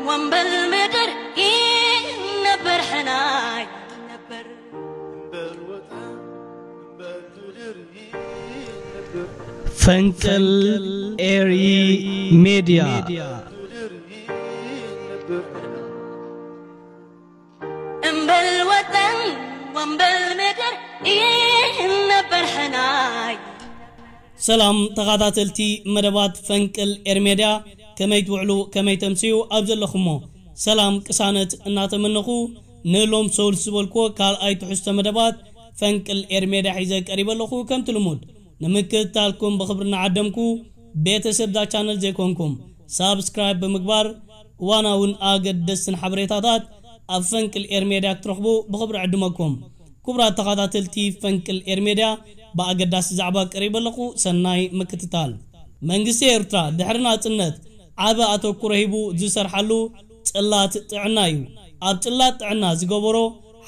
ወንበል ምድር ይነበር ሕናይ ነበር። ፈንቅል ኤሪ ሜድያ። እምበል ወጠን ወንበል ምድር ይነበር ሕናይ። ሰላም ተኸታተልቲ መደባት ፈንቅል ኤሪ ሜድያ፣ ከመይ ትውዕሉ፣ ከመይ ተምስዩ? ኣብ ዘለኹሞ ሰላም ቅሳነት እናተመነኹ፣ ንሎም ሰውል ዝበልክዎ ካልኣይ ትሕዝቶ መደባት ፈንቅል ኤሪ ሜድያ ሒዘ ቀሪበ ኣለኹ። ከምቲ ልሙድ ንምክትታልኩም ብኽብሪ እናዓደምኩ፣ ቤተሰብ ዛ ቻነል ዘይኮንኩም ሳብስክራይብ ብምግባር እዋናውን ኣገደስትን ሓበሬታታት ኣብ ፈንቅል ኤሪ ሜድያ ክትረኽቡ ብኽብሪ ዕድመኩም። ክቡራት ተኸታተልቲ ፈንቅል ኤሪ ሜድያ፣ ብኣገዳሲ ዛዕባ ቀሪበ ኣለኹ። ሰናይ ምክትታል። መንግስቲ ኤርትራ ድሕሪ ናጽነት ዓቢ ኣተኩሮ ሂቡ ዝሰርሓሉ ጽላት ጥዕና እዩ። ኣብ ጽላት ጥዕና ዝገበሮ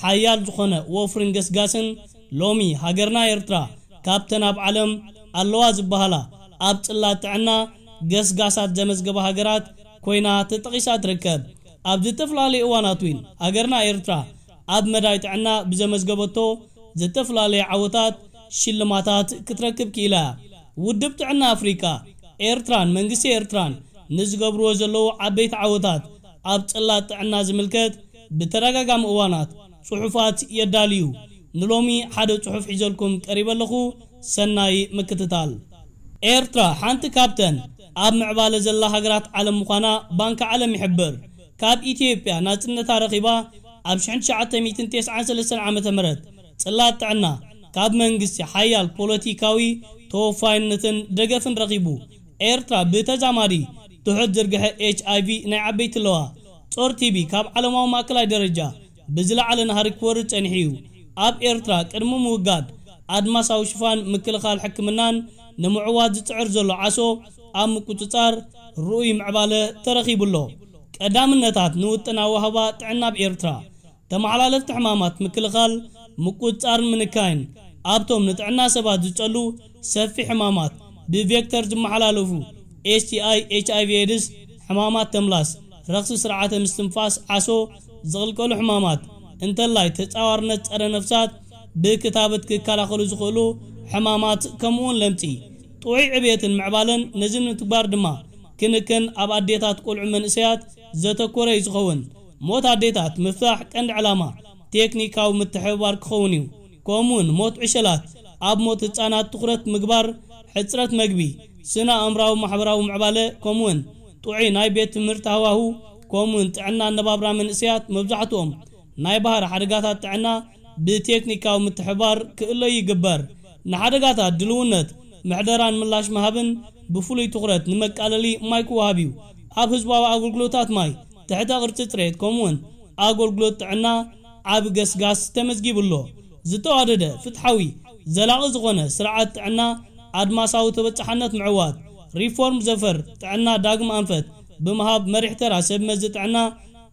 ሓያል ዝኾነ ወፍርን ገስጋስን፣ ሎሚ ሃገርና ኤርትራ ካብተን ኣብ ዓለም ኣለዋ ዝበሃላ ኣብ ጽላት ጥዕና ገስጋሳት ዘመዝገባ ሃገራት ኮይና ተጠቒሳ ትርከብ። ኣብ ዝተፈላለዩ እዋናት እውን ሃገርና ኤርትራ ኣብ መዳይ ጥዕና ብዘመዝገበቶ ዝተፈላለዩ ዓወታት ሽልማታት ክትረክብ ክኢላ እያ። ውድብ ጥዕና ኣፍሪቃ፣ ኤርትራን መንግስቲ ኤርትራን ንዝገብርዎ ዘለዉ ዓበይቲ ዓወታት ኣብ ጽላት ጥዕና ዝምልከት ብተደጋጋሚ እዋናት ጽሑፋት የዳልዩ። ንሎሚ ሓደ ጽሑፍ ሒዘልኩም ቀሪበ ኣለኹ። ሰናይ ምክትታል። ኤርትራ ሓንቲ ካብተን ኣብ ምዕባለ ዘላ ሃገራት ዓለም ምዃና ባንኪ ዓለም ይሕብር። ካብ ኢትዮጵያ ናጽነታ ረኺባ ኣብ ሽሕን ትሽዓተ ሚእትን ተስዓን ሰለስተን ዓመተ ምህረት ጽላት ጥዕና ካብ መንግስቲ ሓያል ፖለቲካዊ ተወፋይነትን ደገፍን ረኺቡ። ኤርትራ ብተዛማዲ ትሑት ዝርግሐ ኤች ኣይ ቪ ናይ ዓበይቲ ኣለዋ። ጾር ቲ ቢ ካብ ዓለማዊ ማእከላይ ደረጃ ብዝለዓለ ናህሪ ክወርድ ጸኒሑ እዩ። ኣብ ኤርትራ ቅድሚ ምውጋድ ኣድማሳዊ ሽፋን ምክልኻል ሕክምናን ንምዕዋት ዝጽዕር ዘሎ ዓሶ ኣብ ምቁጽጻር ርኡይ ምዕባለ ተረኺቡ ኣሎ። ቀዳምነታት ንውጥን ኣዋህባ ጥዕና ኣብ ኤርትራ። ተመሓላለፍቲ ሕማማት ምክልኻል ምቁጽጻርን ምንካይን ኣብቶም ንጥዕና ሰባት ዝጸሉ ሰፊሕ ሕማማት ብቬክተር ዝመሓላለፉ ኤስ ቲ ኣይ፣ ኤች ኣይ ቪ ኤድስ፣ ሕማማት ተምላስ፣ ረኽሲ ስርዓተ ምስትንፋስ ዓሶ ዝቕልቀሉ ሕማማት እንተላይ ተጻዋርነት ጸረ ነፍሳት ብክታበት ክከላኸሉ ዝኽእሉ ሕማማት ከምኡውን ለምጺ። ጥዑይ ዕብየትን ምዕባለን ነዚ ንምትግባር ድማ ክንክን ኣብ ኣዴታት ቆልዑ መንእሰያት ዘተኮረ እዩ ዝኸውን። ሞት ኣዴታት ምፍታሕ ቀንዲ ዕላማ ቴክኒካዊ ምትሕብባር ክኸውን እዩ። ከምኡውን ሞት ዕሸላት ኣብ ሞት ህጻናት ትኹረት ምግባር፣ ሕጽረት መግቢ፣ ስነ ኣእምራዊ ማሕበራዊ ምዕባለ ከምኡውን ጥዑይ ናይ ቤት ትምህርቲ ሃዋሁ ከምኡውን ጥዕና ኣነባብራ መንእሰያት መብዛሕትኦም ናይ ባህሪ ሓደጋታት ጥዕና ብቴክኒካዊ ምትሕባር ክእለዩ ይግበር። ንሓደጋታት ድልውነት ምሕደራን ምላሽ ምሃብን ብፍሉይ ትኹረት ንመቃለሊ ማይ ክወሃብ እዩ። ኣብ ህዝባዊ ኣገልግሎታት ማይ፣ ትሕተ ቅርጺ ጽሬት ከምኡውን ኣገልግሎት ጥዕና ዓቢ ገስጋስ ተመዝጊቡ ኣሎ። ዝተዋደደ፣ ፍትሓዊ፣ ዘላቒ ዝኾነ ስርዓት ጥዕና ኣድማሳዊ ተበጻሕነት ምዕዋት፣ ሪፎርም ዘፈር ጥዕና ዳግም ኣንፈት ብምሃብ መሪሕ ተራ ሰብ መዚ ጥዕና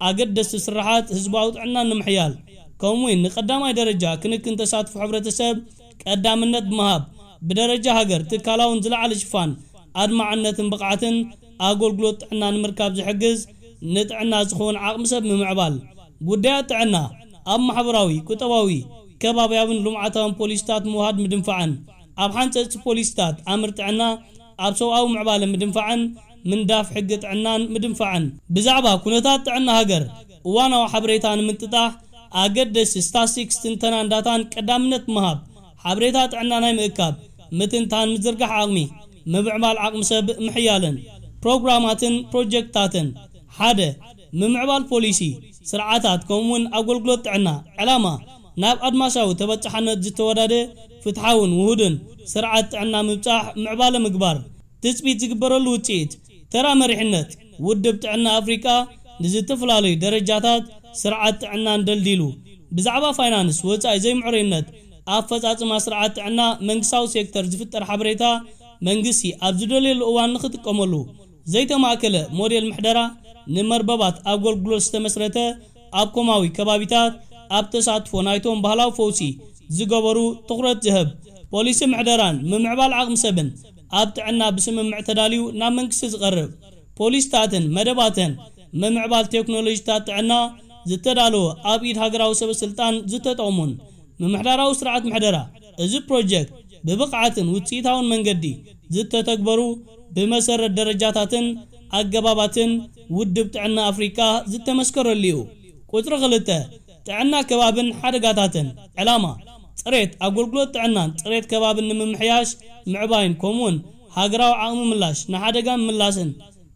ኣገደስቲ ስራሓት ህዝባዊ ጥዕና ንምሕያል ከምኡውን ንቀዳማይ ደረጃ ክንክን ተሳትፎ ሕብረተሰብ ቀዳምነት ብምሃብ ብደረጃ ሃገር ትካላውን ዝለዓለ ሽፋን ኣድማዕነትን ብቕዓትን ኣገልግሎት ጥዕና ንምርካብ ዝሕግዝ ንጥዕና ዝኸውን ዓቕሚ ሰብ ምምዕባል። ጉዳያት ጥዕና ኣብ ማሕበራዊ፣ ቁጠባዊ፣ ከባብያውን ልምዓታውን ፖሊሲታት ምውሃድ ምድንፋዕን ኣብ ሓንጸጽቲ ፖሊሲታት ኣምር ጥዕና ኣብ ሰብኣዊ ምዕባለ ምድንፋዕን ምንዳፍ ሕጊ ጥዕናን ምድንፋዕን። ብዛዕባ ኩነታት ጥዕና ሃገር እዋናዊ ሓበሬታ ንምንጥጣሕ ኣገደስቲ ስታስቲክስ ትንተናን ዳታን ቀዳምነት ምሃብ፣ ሓበሬታ ጥዕና ናይ ምእካብ፣ ምትንታን ምዝርጋሕ ዓቕሚ፣ ምምዕባል ዓቕሚ ሰብ ምሕያልን ፕሮግራማትን ፕሮጀክትታትን። ሓደ፣ ምምዕባል ፖሊሲ፣ ስርዓታት ከምኡውን ኣገልግሎት ጥዕና። ዕላማ፣ ናብ ኣድማሳዊ ተበጻሕነት ዝተወዳደ ፍትሓውን ውሁድን ስርዓት ጥዕና ምብጻሕ ምዕባለ ምግባር። ትጽቢት ዝግበረሉ ውጽኢት። ተራ መሪሕነት፣ ውድብ ጥዕና ኣፍሪቃ ንዝተፈላለዩ ደረጃታት ስርዓት ጥዕናን ደልዲሉ። ብዛዕባ ፋይናንስ፣ ወጻኢ ዘይምዕሩይነት፣ ኣፈጻጽማ ስርዓት ጥዕና መንግስታዊ ሴክተር ዝፍጠር ሓበሬታ መንግስቲ ኣብ ዝደልየሉ እዋን ንኽጥቀመሉ። ዘይተማእከለ ሞዴል ምሕደራ፣ ንመርበባት ኣገልግሎት ዝተመስረተ ኣብ ኮማዊ ከባቢታት ኣብ ተሳትፎ ናይቶም ባህላዊ ፈውሲ ዝገበሩ ትኹረት ዝህብ። ፖሊሲ ምሕደራን ምምዕባል ዓቕሚ ሰብን ኣብ ጥዕና ብስምምዕ ተዳልዩ ናብ መንግስቲ ዝቐርብ። ፖሊስታትን መደባትን ምምዕባል ቴክኖሎጂታት ጥዕና ዝተዳለወ ኣብ ኢድ ሃገራዊ ሰበ ስልጣን ዝተጠቕሙን ምምሕዳራዊ ስርዓት ምሕደራ እዚ ፕሮጀክት ብብቕዓትን ውፅኢታውን መንገዲ ዝተተግበሩ ብመሰረት ደረጃታትን ኣገባባትን ውድብ ጥዕና ኣፍሪቃ ዝተመስከረሉ እዩ። ቁፅሪ ክልተ፣ ጥዕና ከባብን ሓደጋታትን። ዕላማ፣ ፅሬት ኣገልግሎት ጥዕናን ፅሬት ከባብን ንምምሕያሽ ምዕባይን ከምኡውን ሃገራዊ ዓቕሚ ምላሽ ንሓደጋ ምላስን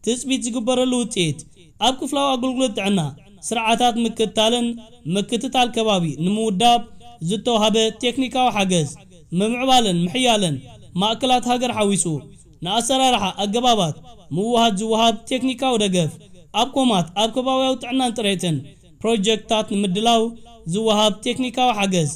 ትፅቢት ዝግበረሉ ውፅኢት ኣብ ክፍላዊ ኣገልግሎት ጥዕና ስርዓታት ምክትታልን ምክትታል ከባቢ ንምውዳብ ዝተዋሃበ ቴክኒካዊ ሓገዝ፣ ምምዕባልን ምሕያልን ማእከላት ሃገር ሓዊሱ ንኣሰራርሓ ኣገባባት ምውሃድ ዝወሃብ ቴክኒካዊ ደገፍ፣ ኣብ ኮማት ኣብ ከባብያዊ ጥዕናን ጥሬትን ፕሮጀክትታት ንምድላው ዝወሃብ ቴክኒካዊ ሓገዝ፣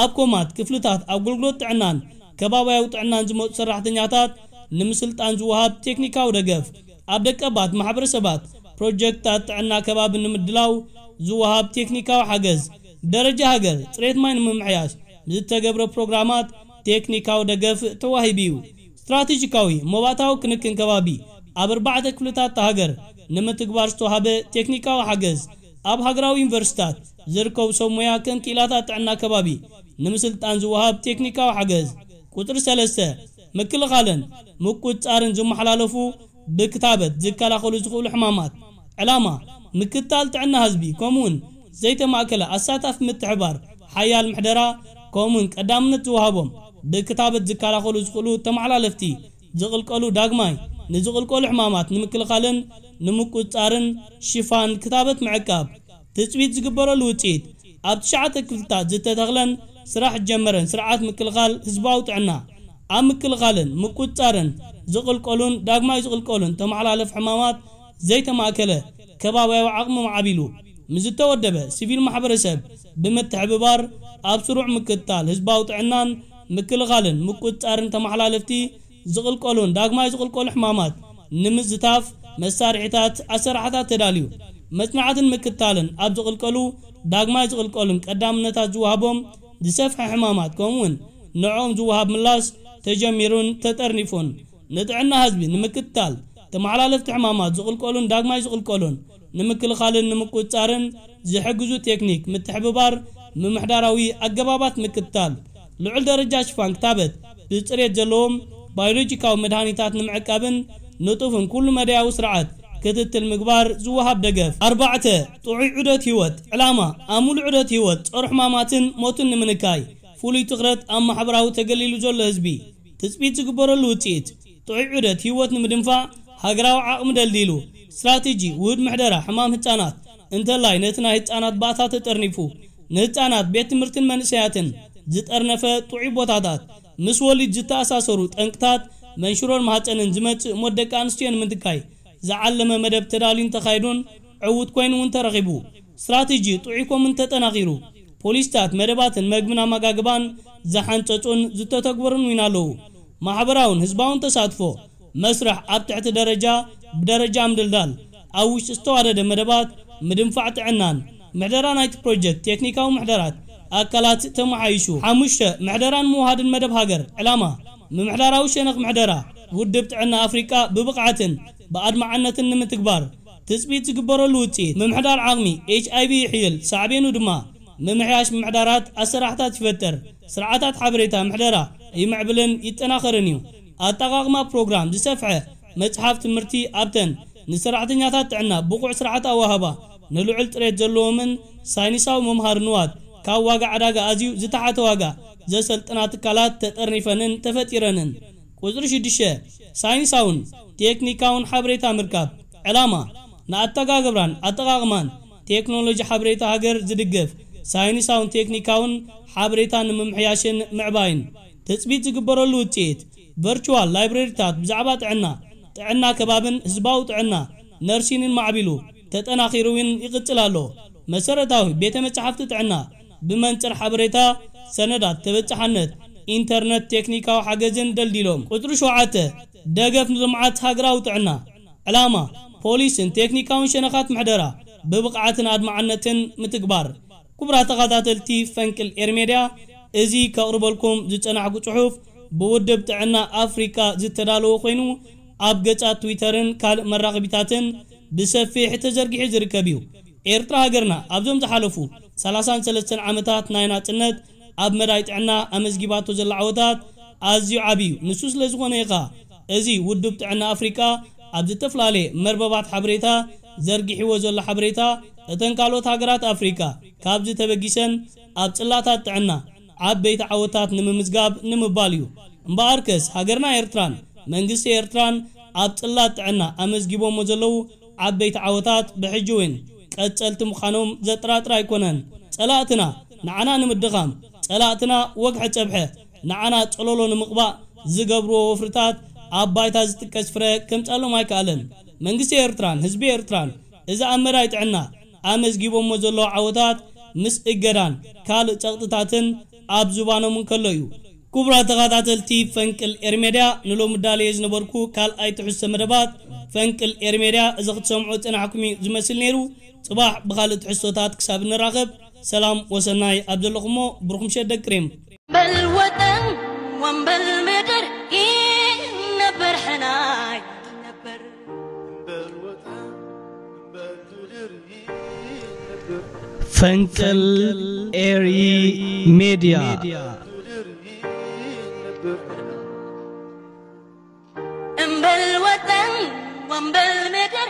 ኣብ ኮማት ክፍልታት ኣገልግሎት ጥዕናን ከባብያዊ ጥዕናን ዝመፁ ሰራሕተኛታት ንምስልጣን ዝወሃብ ቴክኒካዊ ደገፍ፣ ኣብ ደቀባት ማሕበረሰባት ፕሮጀክትታት ጥዕና ከባቢ ንምድላው ዝወሃብ ቴክኒካዊ ሓገዝ፣ ብደረጃ ሃገር ፅሬት ማይ ንምምሕያሽ ዝተገብረ ፕሮግራማት ቴክኒካዊ ደገፍ ተዋሂቡ እዩ። ስትራቴጂካዊ መባእታዊ ክንክን ከባቢ ኣብ ኣርባዕተ ክፍልታት ሃገር ንምትግባር ዝተዋሃበ ቴክኒካዊ ሓገዝ፣ ኣብ ሃገራዊ ዩኒቨርሲታት ዝርከቡ ሰብ ሞያ ከም ክኢላታት ጥዕና ከባቢ ንምስልጣን ዝወሃብ ቴክኒካዊ ሓገዝ። ቁፅሪ ሰለስተ፣ ምክልኻልን ምቁፅፃርን ዝመሓላለፉ ብክታበት ዝከላኸሉ ዝኽእሉ ሕማማት። ዕላማ፣ ምክትታል ጥዕና ህዝቢ ከምኡውን ዘይተማእከለ ኣሳታፊ ምትሕባር ሓያል ምሕደራ ከምኡውን ቀዳምነት ዝወሃቦም ብክታበት ዝከላኸሉ ዝኽእሉ ተመሓላለፍቲ ዝቕልቀሉ ዳግማይ ንዝቕልቀሉ ሕማማት ንምክልኻልን ንምቁፅፃርን ሽፋን ክታበት ምዕቃብ። ትፅቢት ዝግበረሉ ውፅኢት ኣብ ትሽዓተ ክፍልታት ዝተተኽለን ስራሕ ዝጀመረን ስርዓት ምክልኻል ህዝባዊ ጥዕና ኣብ ምክልኻልን ምቁፅፃርን ዝቕልቀሉን ዳግማይ ዝቕልቀሉን ተመሓላለፍ ሕማማት ዘይተማእከለ ከባብያዊ ዓቕሚ ማዕቢሉ ምስ ዝተወደበ ሲቪል ማሕበረሰብ ብምትሕብባር ኣብ ስሩዕ ምክትታል ህዝባዊ ጥዕናን ምክልኻልን ምቁፅፃርን ተመሓላለፍቲ ዝቕልቀሉን ዳግማይ ዝቕልቀሉ ሕማማት ንምዝታፍ መሳርሒታት ኣሰራሕታት ተዳልዩ። መፅናዕትን ምክትታልን ኣብ ዝቕልቀሉ ዳግማይ ዝቕልቀሉን ቀዳምነታት ዝወሃቦም ዝሰፍሐ ሕማማት ከምኡውን ንዕኦም ዝወሃብ ምላሽ ተጀሚሩን ተጠርኒፉን። ንጥዕና ህዝቢ ንምክትታል ተመሓላለፍቲ ሕማማት ዝቕልቀሉን ዳግማይ ዝቕልቀሉን ንምክልኻልን ንምቁፅፃርን ዝሕግዙ ቴክኒክ ምትሕብባር ምምሕዳራዊ ኣገባባት ምክትታል ልዑል ደረጃ ሽፋን ክታበት ብፅሬት ዘለዎም ባዮሎጂካዊ መድሃኒታት ንምዕቃብን ንጡፍን ኩሉ መዳያዊ ስርዓት ክትትል ምግባር ዝወሃብ ደገፍ። ኣርባዕተ፣ ጥዑይ ዑደት ህይወት። ዕላማ፣ ኣብ ሙሉእ ዑደት ህይወት ጸሩ ሕማማትን ሞትን ንምንካይ ፍሉይ ትኹረት ኣብ ማሕበራዊ ተገሊሉ ዘሎ ህዝቢ ትጽቢት ዝግበረሉ ውጽኢት። ጥዑይ ዑደት ህይወት ንምድንፋዕ ሃገራዊ ዓቕሚ ደልዲሉ ስትራቴጂ ውህድ ምሕደራ ሕማም ህጻናት እንተላይ ነቲ ናይ ህጻናት ባእታ ተጠርኒፉ ንህጻናት ቤት ትምህርትን መንእሰያትን ዝጠርነፈ ጥዑይ ቦታታት ምስ ወሊድ ዝተኣሳሰሩ ጠንቅታት መንሽሮን ማህፀንን ዝመጽእ ሞት ደቂ ኣንስትዮ ንምንካይ ዝዓለመ መደብ ተዳልዩን ተኻይዱን ዕዉት ኮይኑ እውን ተረኺቡ። ስትራቴጂ ጥዑይ ኮምን ተጠናኺሩ ፖሊሲታት መደባትን መግብን ኣመጋግባን ዝሓንጸጹን ዝተተግበሩን እውን ኣለዉ። ማሕበራውን ህዝባውን ተሳትፎ መስርሕ ኣብ ትሕቲ ደረጃ ብደረጃ ምድልዳል ኣብ ውሽጢ ዝተዋደደ መደባት ምድንፋዕ ጥዕናን ምሕደራ ናይቲ ፕሮጀክት ቴክኒካዊ ምሕደራት ኣካላት ተመሓይሹ። ሓሙሽተ፣ ምሕደራን ምውሃድን መደብ ሃገር። ዕላማ፣ ምምሕዳራዊ ሸነኽ ምሕደራ ውድብ ጥዕና ኣፍሪቃ ብብቕዓትን ብኣድማዕነትን ንምትግባር ትጽቢት ዝግበረሉ ውጽኢት። ምምሕዳር ዓቕሚ ኤች ኣይ ቪ ይሕይል፣ ሳዕቤኑ ድማ ምምሕያሽ ምሕዳራት ኣሰራሕታት ይፈጥር። ስርዓታት ሓበሬታ ምሕደራ ይምዕብልን ይጠናኸርን እዩ። ኣጠቓቕማ ፕሮግራም ዝሰፍሐ መጽሓፍ ትምህርቲ ኣብተን ንሰራሕተኛታት ጥዕና ብቑዕ ስርዓት ኣዋህባ ንልዑል ጥሬት ዘለዎምን ሳይንሳዊ መምሃሪ ንዋት ካብ ዋጋ ዕዳጋ ኣዝዩ ዝተሓተ ዋጋ ዘሰልጥና ትካላት ተጠርኒፈንን ተፈጢረንን። ቁጽሪ ሽዱሽተ፣ ሳይንሳውን ቴክኒካውን ሓበሬታ ምርካብ። ዕላማ፣ ንኣተጋግብራን ኣጠቓቕማን ቴክኖሎጂ ሓበሬታ ሃገር ዝድግፍ ሳይንሳውን ቴክኒካውን ሓበሬታ ንምምሕያሽን ምዕባይን ትጽቢት ዝግበረሉ ውጽኢት። ቨርቹዋል ላይብረሪታት ብዛዕባ ጥዕና፣ ጥዕና ከባብን ህዝባዊ ጥዕና ነርሲንን ማዕቢሉ ተጠናኺሩ እውን ይቕጽል ኣሎ። መሰረታዊ ቤተ መጻሕፍቲ ጥዕና ብመንጽር ሓበሬታ፣ ሰነዳት ተበጻሓነት፣ ኢንተርነት ቴክኒካዊ ሓገዝን ደልዲሎም። ቁጽሪ ሸውዓተ፣ ደገፍ ንልምዓት ሃገራዊ ጥዕና። ዕላማ፣ ፖሊስን ቴክኒካውን ሸነኻት ምሕደራ ብብቕዓትን ኣድማዕነትን ምትግባር። ክቡራት ተኸታተልቲ ፈንቅል ኤር ሜድያ፣ እዚ ከቕርበልኩም ዝጸናሕኩ ጽሑፍ ብውድብ ጥዕና ኣፍሪቃ ዝተዳለወ ኮይኑ፣ ኣብ ገጻት ትዊተርን ካልእ መራኸቢታትን ብሰፊሕ ተዘርጊሑ ዝርከብ እዩ። ኤርትራ ሃገርና ኣብዞም ዝሓለፉ ሰላሳን ሰለስተን ዓመታት ናይ ናጽነት ኣብ መዳይ ጥዕና ኣመዝጊባቶ ዘላ ዓወታት ኣዝዩ ዓቢ እዩ። ንሱ ስለ ዝኾነ እዩ ኸኣ እዚ ውድብ ጥዕና ኣፍሪቃ ኣብ ዝተፈላለየ መርበባት ሓበሬታ ዘርጊሕዎ ዘሎ ሓበሬታ እተን ካልኦት ሃገራት ኣፍሪቃ ካብዚ ተበጊሰን ኣብ ጽላታት ጥዕና ዓበይቲ ዓወታት ንምምዝጋብ ንምባል እዩ። እምበኣርከስ ሃገርና ኤርትራን መንግስቲ ኤርትራን ኣብ ጽላት ጥዕና ኣመዝጊቦሞ ዘለዉ ዓበይቲ ዓወታት ብሕጂ እውን ቀጸልቲ ምዃኖም ዘጠራጥር ኣይኮነን። ጸላእትና ንዓና ንምድኻም፣ ጸላእትና ወግሐ ጸብሐ ንዓና ጸለሎ ንምቕባእ ዝገብርዎ ወፍርታት ኣብ ባይታ ዝጥቀስ ፍረ ከምጻሎም ኣይከኣለን። መንግስቲ ኤርትራን ህዝቢ ኤርትራን እዚ ኣብ መዳይ ጥዕና ኣመዝጊቦሞ ዘለዉ ዓወታት ምስ እገዳን ካልእ ጸቕጥታትን ኣብ ዝባኖም እንከሎ እዩ። ክቡራት ተኸታተልቲ ፈንቅል ኤርሜድያ፣ ንሎሚ ዳልየ ዝነበርኩ ካልኣይ ትሕዝቶ መደባት ፈንቅል ኤርሜድያ እዚ ክትሰምዑ ጽናሕኩም እዩ ዝመስል ነይሩ። ጽባሕ ብኻልእ ትሕዝቶታት ክሳብ እንራኸብ ሰላም ወሰናይ ኣብ ዘለኹሞ ብሩኽ ምሸት ደቂ ሪም። በል ወጠን ወንበል ምድር ይነበር ሕናይ ነበር። ፈንቅል ኤሪ ሜድያ። እምበል ወጠን ወንበል ምድር